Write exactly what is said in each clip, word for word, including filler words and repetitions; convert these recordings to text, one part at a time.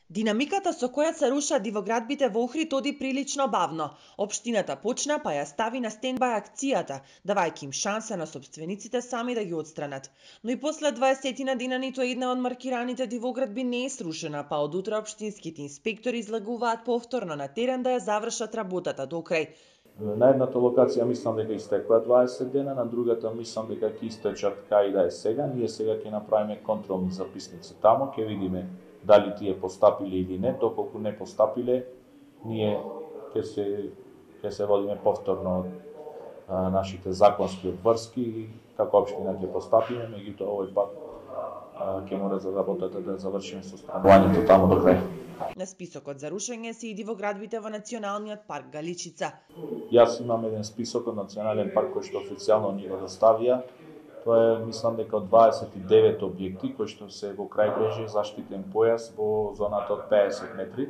Динамиката со која се рушат дивоградбите во Охрид оди прилично бавно. Општината почна па ја стави на стендбај акцијата, давајќи им шанса на сопствениците сами да ги отстранат. Но и после дваесетина дена ниту една од маркираните дивоградби не е срушена, па од утре општинските инспектори излегуваат повторно на терен да ја завршат работата до крај. На едната локација мислам дека истекоа дваесет дена, на другата мислам дека ќе истечат кај да е сега. Ние сега ќе направиме контролни записници таму, ќе видиме дали тие постапиле или не. Доколку не постапиле, ние ќе се ќе се водиме повторно од а, нашите законски обврски и како општина ќе постапиме, меѓутоа овој пат а, ќе мора за работата да завршиме со странувањето таму до крај. На списокот за рушење се и дивоградбите во Националниот парк Галичица. Јас имам еден список од Национален парк кој што официјално ни го доставија. Тоа е, мислам дека од дваесет и девет објекти кои што се во крајбрежје заштитен појас во зоната од пеесет метри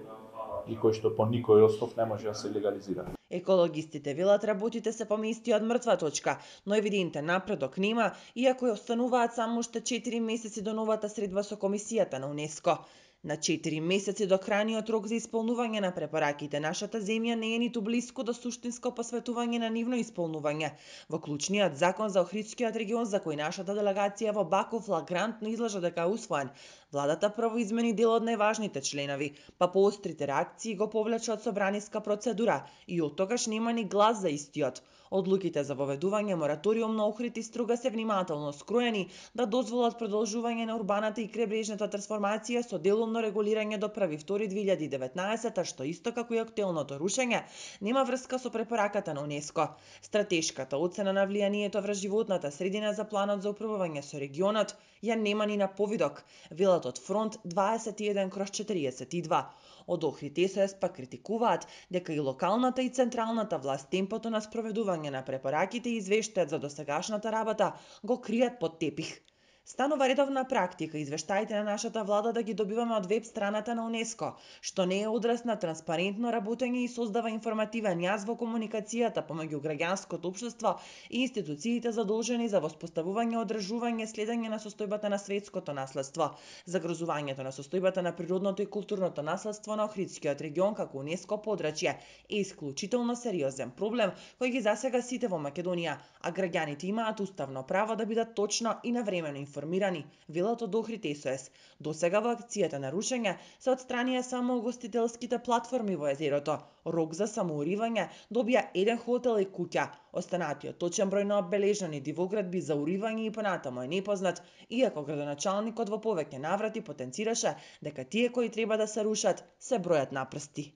и кои што по никој основ не може да се легализира. Екологистите велат работите се помести од мртва точка, но евидентен напредок нема, иако ја остануваат само уште четири месеци до новата средба со Комисијата на УНЕСКО. На четири месеци до крајниот рок за исполнување на препораките, нашата земја не е ниту блиску до суштинско посветување на нивно исполнување. Во клучниот закон за Охридскиот регион, за кој нашата делегација во Баку флагрантно излажа дека е усвоен, владата прво измени дел од најважните членови, па по острите реакции го повлече од собраниска процедура и од тогаш нема ни глас за истиот. Одлуките за воведување мораториум на Охрид и Струга се внимателно скроени да дозволат продолжување на урбаната и крајбрежната трансформација со делумно регулирање до први втори две илјади и деветнаесета, што исто како и актуелното рушење нема врска со препораката на УНЕСКО. Стратешката оцена на влијанието врз животната средина за планот за управување со регионот ја нема ни на повидок, велат од Фронт дваесет и еден кроз четириесет и два. Од Охрид ес пак критикуваат дека и локалната и централната власт темпото на спроведување на препораките и извештајот за досегашната работа го кријат под тепих. Станува редовна практика извештаите на нашата влада да ги добиваме од веб страната на УНЕСКО, што не е одраз на транспарентно работење и создава информативен јаз во комуникацијата помеѓу граѓанското општество и институциите задолжени за воспоставување, одржување, следење на состојбата на светското наследство. Загрозувањето на состојбата на природното и културното наследство на Охридскиот регион како УНЕСКО подрачје е исклучително сериозен проблем кој ги засега сите во Македонија, а граѓаните имаат уставно право да бидат точно и навремено информирани, велат од Охрид ес. Досега во акцијата на рушење се отстранија само угостителските платформи во езерото. Рок за самоуривање добија еден хотел и куќа. Останатиот точен број на обележани дивоградби за уривање и понатаму е непознат, иако градоначалникот во повеќе наврати потенцираше дека тие кои треба да се рушат се бројат на прсти.